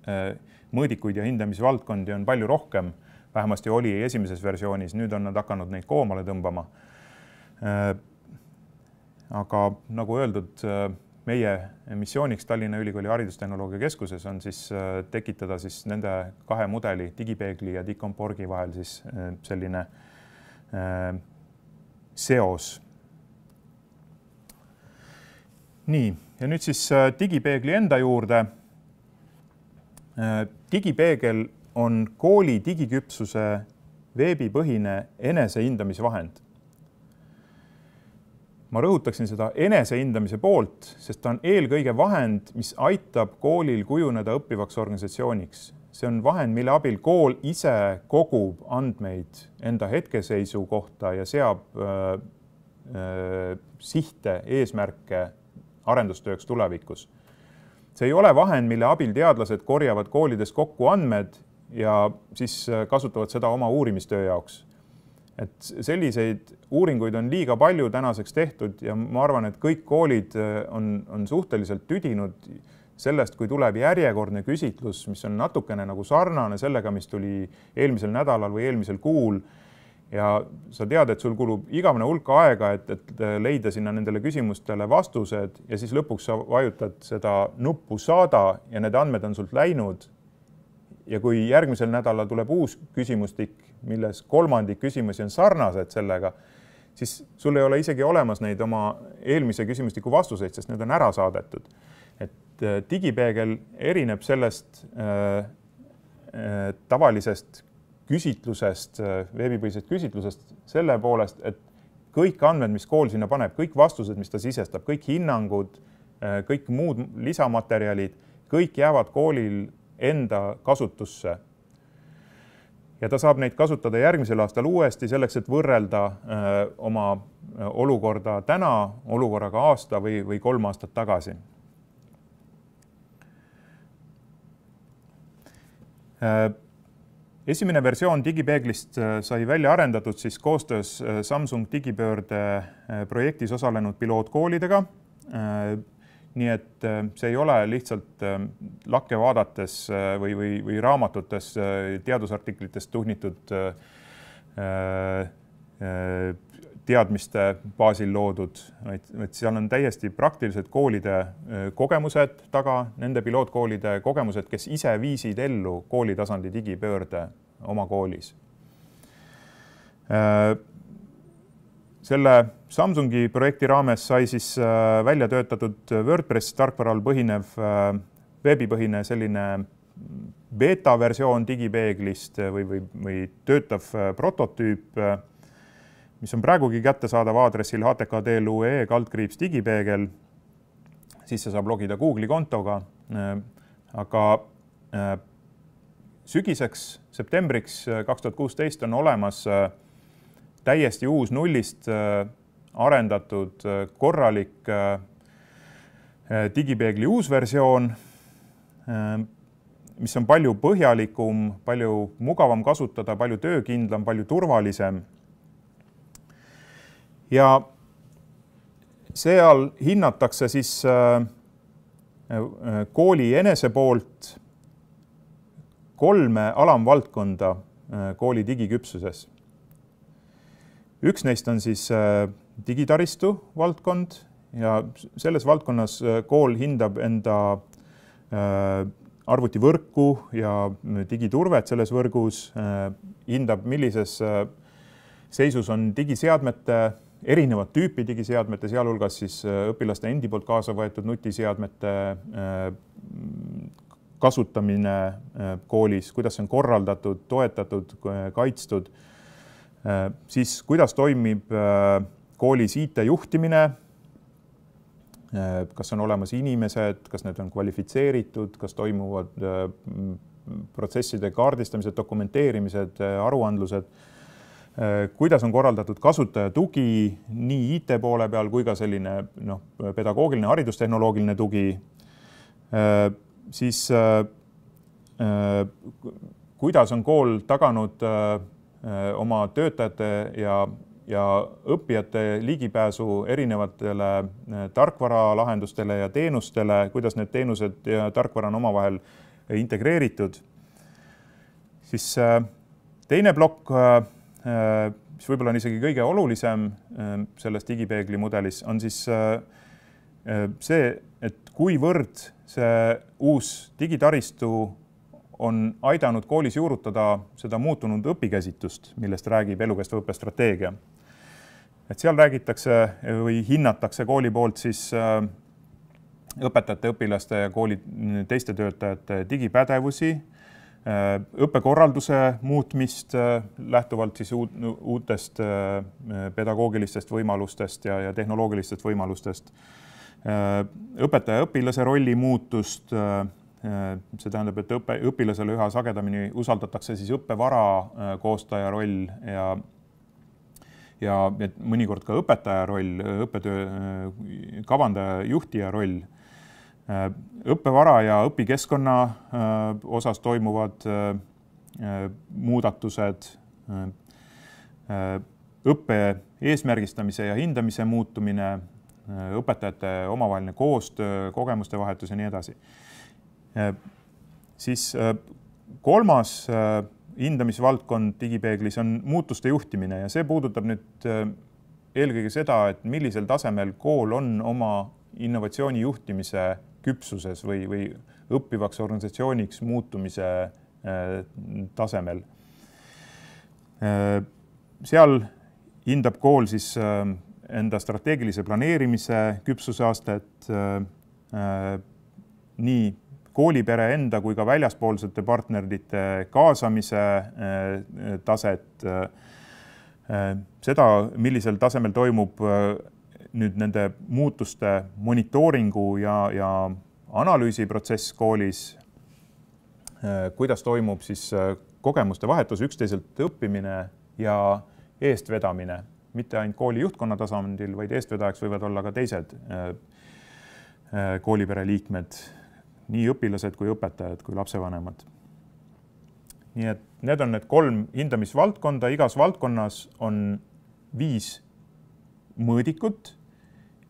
Speaker 1: mõõdikuid ja hindamisvaldkondi on palju rohkem. Vähemasti oli esimeses versioonis, nüüd on nad hakanud neid koomale tõmbama. Aga nagu öeldud, meie missiooniks Tallinna Ülikooli Haridustehnoloogia Keskuses on siis tekitada siis nende 2 mudeli, digipeegli ja DICCOMP.orgi vahel siis selline seos. Nii, ja nüüd siis digipeegli enda juurde. Digipeegel on kooli digiküpsuse veebipõhine enesehindamisvahend. ma rõhutaksin seda enesehindamise poolt, sest ta on eelkõige vahend, mis aitab koolil kujuneda õppivaks organisatsiooniks. See on vahend, mille abil kool ise kogub andmeid enda hetkeseisu kohta ja seab sihte, eesmärke arendustööks tulevikus. See ei ole vahend, mille abil teadlased korjavad koolides kokku andmed ja siis kasutavad seda oma uurimistöö jaoks. Et selliseid uuringuid on liiga palju tänaseks tehtud ja ma arvan, et kõik koolid on suhteliselt tüdinud sellest, kui tuleb järjekordne küsitlus, mis on natukene nagu sarnane sellega, mis tuli eelmisel nädalal või eelmisel kuul. Ja sa tead, et sul kulub igavene hulk aega, et leida sinna nendele küsimustele vastused ja siis lõpuks sa vajutad seda nuppu saada ja need andmed on sult läinud. Ja kui järgmisel nädalal tuleb uus küsimustik, milles kolmandik küsimusi on sarnased sellega, siis sul ei ole isegi olemas neid oma eelmise küsimustiku vastuseid, sest need on ära saadetud. Et digipeegel erineb sellest tavalisest küsitlusest, veebipõhisest küsitlusest selle poolest, et kõik andmed, mis kool sinna paneb, kõik vastused, mis ta sisestab, kõik hinnangud, kõik muud lisamaterjalid, kõik jäävad koolil enda kasutusse. Ja ta saab neid kasutada järgmisel aastal uuesti selleks, et võrrelda oma olukorda täna, olukorraga aasta või 3 aastat tagasi. Esimene versioon digipeeglist sai välja arendatud siis koostöös Samsung digipöörde projektis osalenud pilootkoolidega. Nii et see ei ole lihtsalt lakke vaadates või raamatutes teadusartiklitest tuhnitud teadmiste baasil loodud, vaid seal on täiesti praktilised koolide kogemused taga, nende pilootkoolide kogemused, kes ise viisid ellu koolitasandi digipöörde oma koolis. Selle Samsungi projekti raames sai siis välja töötatud WordPress tarkvaral põhinev veebipõhine selline beta-versioon digipeeglist või töötav prototüüp, mis on praegugi kättesaadav aadressil htk.lu/digipeegel, siis see saab logida Google'i kontoga. Aga sügiseks, septembriks 2016 on olemas täiesti uus nullist arendatud korralik digipeegli uus versioon, mis on palju põhjalikum, palju mugavam kasutada, palju töökindlam, palju turvalisem. Ja seal hinnatakse siis kooli enese poolt 3 alamvaldkonda kooli digiküpsuses. Üks neist on siis digitaristu valdkond ja selles valdkonnas kool hindab enda arvutivõrku ja digiturvet selles võrgus, hindab, millises seisus on digiseadmete, erinevad tüüpi digiseadmete, sealhulgas siis õpilaste endi poolt kaasa võetud nutiseadmete kasutamine koolis, kuidas see on korraldatud, toetatud, kaitstud, siis kuidas toimib koolis IT-juhtimine, kas on olemas inimesed, kas need on kvalifitseeritud, kas toimuvad protsesside kaardistamised, dokumenteerimised, aruandlused, kuidas on korraldatud kasutaja tugi nii IT poole peal kui ka selline pedagoogiline, haridustehnoloogiline tugi, siis kuidas on kool taganud oma töötajate ja õppijate ligipääsu erinevatele tarkvaralahendustele ja teenustele, kuidas need teenused ja tarkvara on omavahel integreeritud. Siis teine plokk, mis võib-olla on isegi kõige olulisem selles digipeegli mudelis, on siis see, et kuivõrd see uus digitaristu on aidanud koolis juurutada seda muutunud õpikäsitust, millest räägib elukestva õppe strateegia. Et seal räägitakse või hinnatakse kooli poolt siis õpetajate, õpilaste ja kooli teiste töötajate digipädevusi, õppekorralduse muutmist lähtuvalt siis uutest pedagoogilistest võimalustest ja tehnoloogilistest võimalustest, õpetaja-õpilase rolli muutust, see tähendab, et õpilasele üha sagedamini usaldatakse siis õppevara koostaja roll ja mõnikord ka õpetaja roll, õppetöö kavandaja, juhtija roll. Õppevara ja õpikeskkonna osas toimuvad muudatused, õppe eesmärgistamise ja hindamise muutumine, õpetajate omavaheline koostöö, kogemuste vahetus ja nii edasi. Siis kolmas hindamisvaldkond digipeeglis on muutuste juhtimine ja see puudutab nüüd eelkõige seda, et millisel tasemel kool on oma innovatsiooni juhtimise küpsuses või õppivaks organisatsiooniks muutumise tasemel. Seal hindab kool siis enda strateegilise planeerimise küpsuse astet, nii koolipere enda kui ka väljaspoolsete partnerite kaasamise taset, seda, millisel tasemel toimub nüüd nende muutuste monitooringu ja analüüsiprotsess koolis, kuidas toimub siis kogemuste vahetus, üksteiselt õppimine ja eestvedamine, mitte ainult kooli juhtkonna tasandil, vaid eestvedajaks võivad olla ka teised koolipere liikmed, nii õpilased kui õpetajad kui lapsevanemad. Nii et need on need 3 hindamisvaldkonda, igas valdkonnas on 5 mõõdikut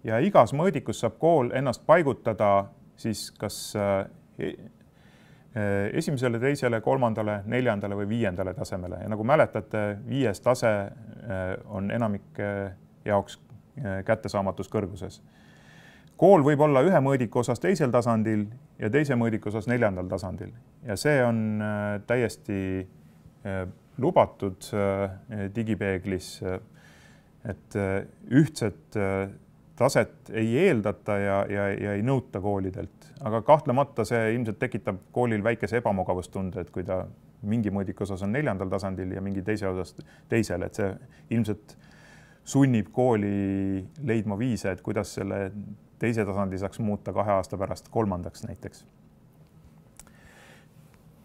Speaker 1: ja igas mõõdikus saab kool ennast paigutada siis kas esimesele, teisele, 3., 4. või 5. tasemele. Ja nagu mäletate, 5. tase on enamike jaoks kättesaamatus kõrguses. Kool võib olla ühe mõõdiku osas teisel tasandil ja teise mõõdiku osas 4. tasandil. Ja see on täiesti lubatud digipeeglis, et ühtset taset ei eeldata ja ei nõuta koolidelt. Aga kahtlemata see ilmselt tekitab koolil väikese ebamugavustunde, et kui ta mingi mõõdiku osas on 4. tasandil ja mingi teise osas teisel, et see ilmselt sunnib kooli leidma viise, et kuidas selle teise tasandi saaks muuta 2 aasta pärast 3. näiteks.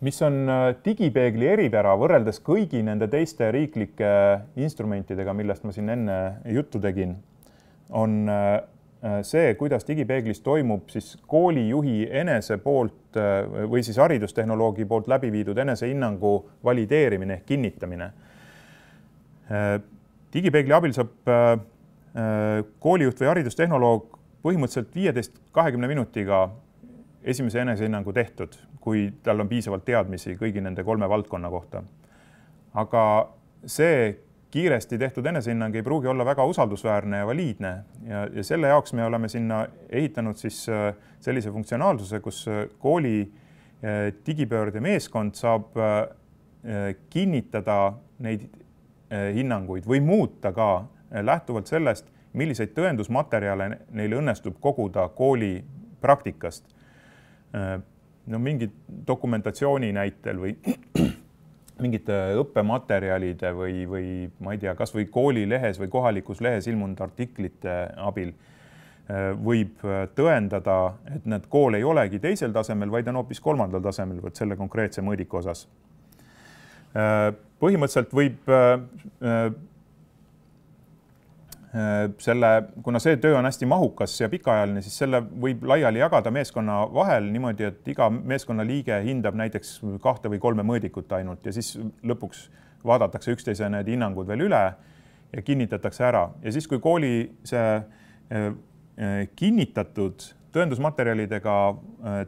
Speaker 1: Mis on digipeegli eripära võrreldes kõigi nende teiste riiklike instrumentidega, millest ma siin enne juttu tegin, on see, kuidas digipeeglis toimub siis koolijuhi enese poolt või siis haridustehnoloogi poolt läbi viidud enesehinnangu valideerimine ehk kinnitamine. Digipeegli abil saab koolijuht või haridustehnoloog põhimõtteliselt 15-20 minutiga esimese enesehinnangu tehtud, kui tal on piisavalt teadmisi kõigi nende 3 valdkonna kohta. Aga see kiiresti tehtud enesehinnang ei pruugi olla väga usaldusväärne ja valiidne ja selle jaoks me oleme sinna ehitanud siis sellise funktsionaalsuse, kus kooli digipöörde meeskond saab kinnitada neid hinnanguid või muuta ka lähtuvalt sellest, milliseid tõendusmaterjale neil õnnestub koguda kooli praktikast. No mingi dokumentatsiooni näitel või mingite õppematerjalide või ma ei tea, kas või koolilehes või kohalikus lehes ilmunud artiklite abil võib tõendada, et need kool ei olegi teisel tasemel, vaid on hoopis 3. tasemel võt selle konkreetse mõõdiku osas. Põhimõtteliselt võib kuna see töö on hästi mahukas ja pikaajaline, siis selle võib laiali jagada meeskonna vahel niimoodi, et iga meeskonna liige hindab näiteks 2 või 3 mõõdikut ainult ja siis lõpuks vaadatakse üksteise need hinnangud veel üle ja kinnitatakse ära. Ja siis, kui kooli see kinnitatud tõendusmaterjalidega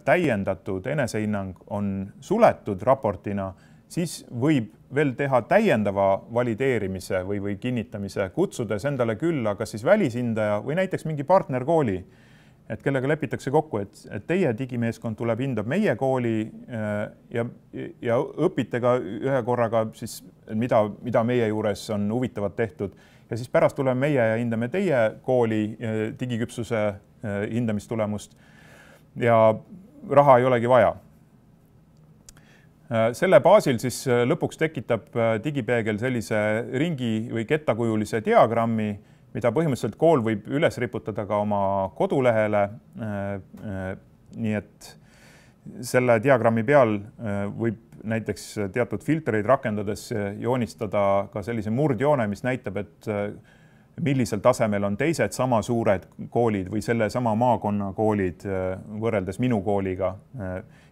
Speaker 1: täiendatud enesehinnang on suletud raportina, siis võib veel teha täiendava valideerimise või kinnitamise, kutsudes endale külla kas siis välishindaja või näiteks mingi partnerkooli, et kellega lepitakse kokku, et teie digimeeskond tuleb, hindab meie kooli ja õpite ka ühe korraga siis, mida meie juures on huvitavat tehtud. Ja siis pärast tuleme meie ja hindame teie kooli digiküpsuse hindamistulemust ja raha ei olegi vaja. Selle baasil siis lõpuks tekitab digipeegel sellise ringi või kettakujulise diagrammi, mida põhimõtteliselt kool võib üles riputada ka oma kodulehele. Nii et selle diagrammi peal võib näiteks teatud filtreid rakendades joonistada ka sellise murdjoone, mis näitab, et millisel tasemel on teised sama suured koolid või selle sama maakonna koolid võrreldes minu kooliga.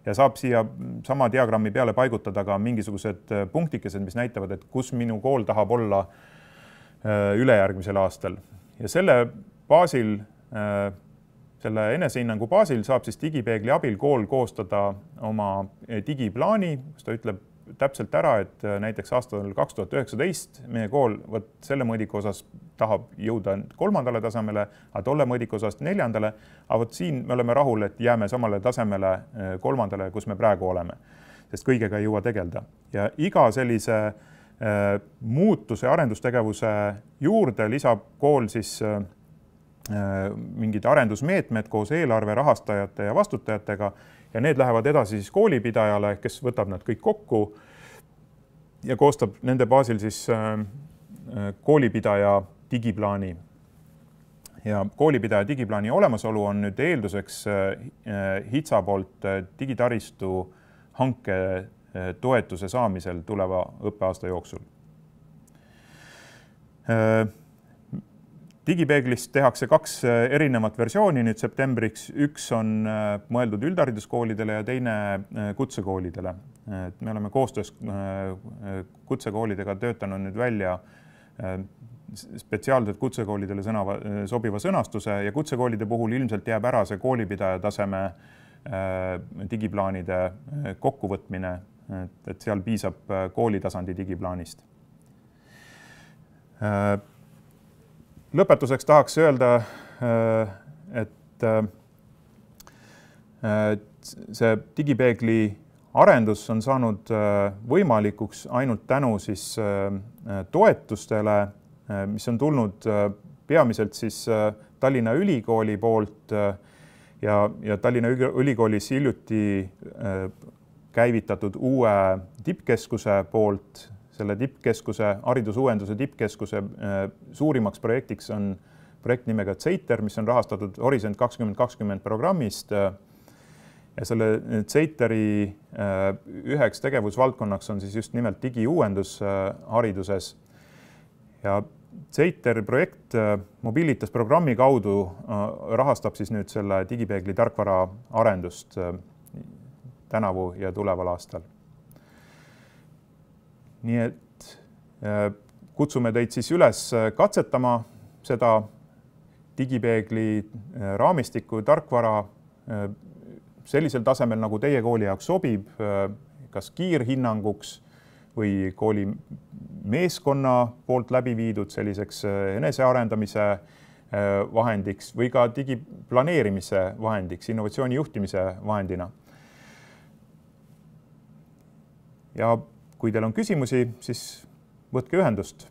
Speaker 1: Ja saab siia sama diagrammi peale paigutada ka mingisugused punktikesed, mis näitavad, et kus minu kool tahab olla ülejärgmisel aastal. Ja selle baasil, selle enesehinnangu baasil saab siis digipeegli abil kool koostada oma digiplaani, kus ta ütleb täpselt ära, et näiteks aastal 2019 meie kool selle mõõdiku osas tahab jõuda 3. tasemele, aga tolle mõõdiku osas 4. Aga siin me oleme rahul, et jääme samale tasemele 3., kus me praegu oleme, sest kõigega ei jõua tegeleda. Ja iga sellise muutuse arendustegevuse juurde lisab kool siis mingid arendusmeetmed koos eelarve rahastajate ja vastutajatega ja need lähevad edasi siis koolipidajale, kes võtab nad kõik kokku ja koostab nende baasil siis koolipidaja digiplaani. Ja koolipidaja digiplaani olemasolu on nüüd eelduseks HITSA poolt digitaristu hanke toetuse saamisel tuleva õppeaasta jooksul. Digipeeglist tehakse 2 erinevat versiooni nüüd septembriks. Üks on mõeldud üldhariduskoolidele ja teine kutsekoolidele. Me oleme koostöös kutsekoolidega töötanud nüüd välja spetsiaalselt kutsekoolidele sobiva sõnastuse ja kutsekoolide puhul ilmselt jääb ära see koolipidaja taseme digiplaanide kokkuvõtmine, et seal piisab koolitasandi digiplaanist. Lõpetuseks tahaks öelda, et see digipeegli arendus on saanud võimalikuks ainult tänu siis toetustele, mis on tulnud peamiselt siis Tallinna Ülikooli poolt ja Tallinna Ülikoolis hiljuti käivitatud uue tippkeskuse poolt. Selle tippkeskuse, haridusuuenduse tippkeskuse suurimaks projektiks on projekt nimega CEITER, mis on rahastatud Horisont 2020 programmist. Ja selle CEITERi üheks tegevusvaldkonnaks on siis just nimelt digiuuendus hariduses. Ja CEITER projekt Mobilitas programmi kaudu rahastab siis nüüd selle digipeegli tarkvara arendust tänavu ja tuleval aastal. Nii et kutsume teid siis üles katsetama seda digipeegli raamistiku tarkvara sellisel tasemel, nagu teie kooli jaoks sobib, kas kiirhinnanguks või kooli meeskonna poolt läbi viidud selliseks enesearendamise vahendiks või ka digiplaneerimise vahendiks, innovatsiooni juhtimise vahendina. Ja kui teil on küsimusi, siis võtke ühendust.